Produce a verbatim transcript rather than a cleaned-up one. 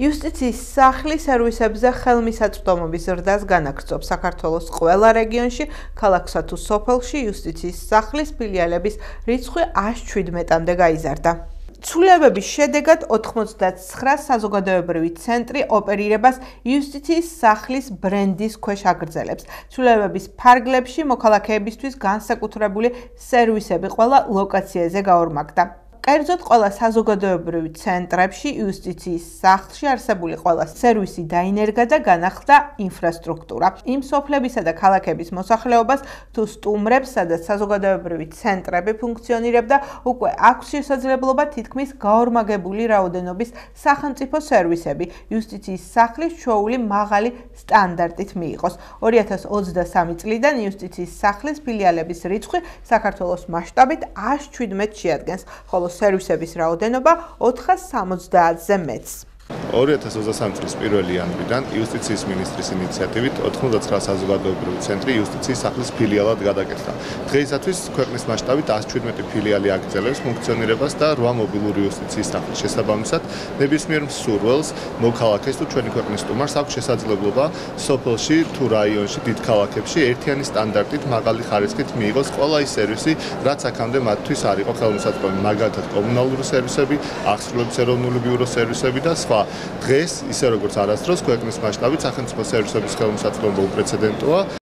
იუსტიციის სახლი სერვისებზე ხელმისაწვდომობის ზრდას განაგრძობს საქართველოს ყველა რეგიონში, ქალაქსა თუ სოფელში იუსტიციის სახლის ფილიალების რიცხვი ას შვიდმეტამდე გაიზარდა. ცვლილებების შედეგად ოთხმოცდაცხრა საზოგადოებრივი ცენტრი ოპერირებას იუსტიციის სახლის ბრენდის ქვეშ აგრძელებს. ცვლილებების ფარგლებში მოქალაქეებისთვის განსაკუთრებული სერვისები ყველა ლოკაციაზე გაორმაგდა. კერძოდ ყველა საზოგადოებრივ ცენტრებში იუსტიციის სახლში არსებული ყველა სერვისი დაინერგა და განახლდა ინფრასტრუქტურა. იმ სოფლებისა და ქალაქების მოსახლეობას თუ სტუმრებს, სადაც საზოგადოებრივი ცენტრები ფუნქციონირებდა, უკვე აქვს შესაძლებლობა თითქმის გაორმაგებული რაოდენობის სახელმწიფო სერვისები იუსტიციის სახლის ჩვეული მაღალი სტანდარტით მიიღოს. ორი ათას ოცდასამი წლიდან იუსტიციის სახლის ფილიალების რიცხვი საქართველოს მასშტაბით ას შვიდმეტს შეადგენს, ხოლო სერვისების რაოდენობა ოთხას სამოცდაათზე მეტს. ორი ათას ოცდასამი წლის პირველი იანვრიდან იუსტიციის მინისტრის ინიციატივით ოთხმოცდაცხრა საზოგადოებრივი ცენტრი იუსტიციის სახლის ფილიალად გადაკეთდა. დღეისათვის ქვეყნის მასშტაბით ას შვიდმეტი ფილიალი აგრძელებს ფუნქციონირებას და რვა მობილური იუსტიციის სახლის შესაბამისად ნებისმიერ მსურველს, მოქალაქეს თუ ჩვენი ქვეყნის სტუმარს აქვს შესაძლებლობა სოფელში თუ რაიონში, დიდ ქალაქებში ერთიანი სტანდარტით მაღალი ხარისხით მიიღოს ყველა ის სერვისი, რაც აქამდე მათთვის არ იყო ხელმისაწვდომი, მაგალითად კომუნალური სერვისები, აღსრულების ეროვნული ბიუროს სერვისები და სხვა. დღეს, ისე როგორც არასდროს, ქვეყნის მასშტაბით სახელმწიფო სერვისების ხელმისაწვდომობა უპრეცედენტოა.